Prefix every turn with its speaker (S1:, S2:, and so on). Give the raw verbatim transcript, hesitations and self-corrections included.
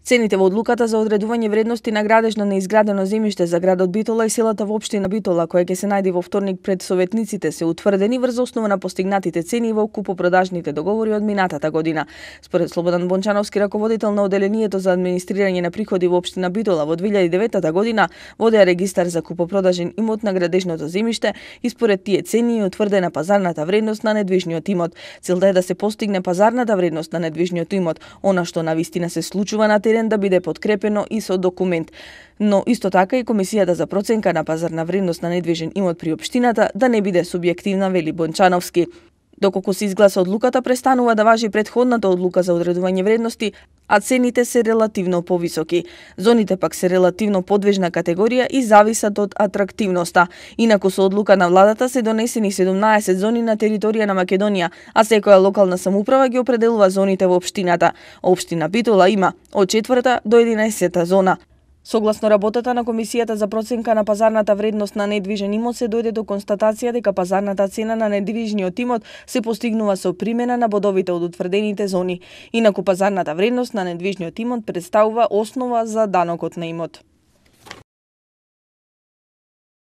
S1: Цените во одлуката за одредување вредности на градежно неизградено земјиште за градот Битола и селата во општина Битола, која ќе се најде во вторник пред советниците, се утврдени врз основа на постигнатите цени во купопродажните договори од минатата година. Според Слободан Бончановски, раководител на оделението за администрирање на приходи во општина Битола, во две илјади и девета година водеа регистар за купопродажен имот на градежното земјиште и според тие цени е утврдена пазарната вредност на недвижниот имот. Целта е да се постигне пазарната вредност на недвижниот имот, она што навистина се случува на терен да биде подкрепено и со документ. Но исто така и Комисијата за проценка на пазарна вредност на недвижен имот при општината да не биде субјективна, вели Бончановски. Доколку се изгласа одлуката, престанува да важи претходната одлука за одредување вредности, а цените се релативно повисоки. Зоните пак се релативно подвижна категорија и зависат од атрактивноста. Инаку со одлука на владата се донесени седумнаесет зони на територија на Македонија, а секоја локална самоуправа ги определува зоните во општината. Општина Битола има од четврта до единаесета зона. Согласно работата на Комисијата за проценка на пазарната вредност на недвижен имот се дојде до констатација дека пазарната цена на недвижниот имот се постигнува со примена на бодовите од утврдените зони. Инаку пазарната вредност на недвижниот имот претставува основа за данокот на имот.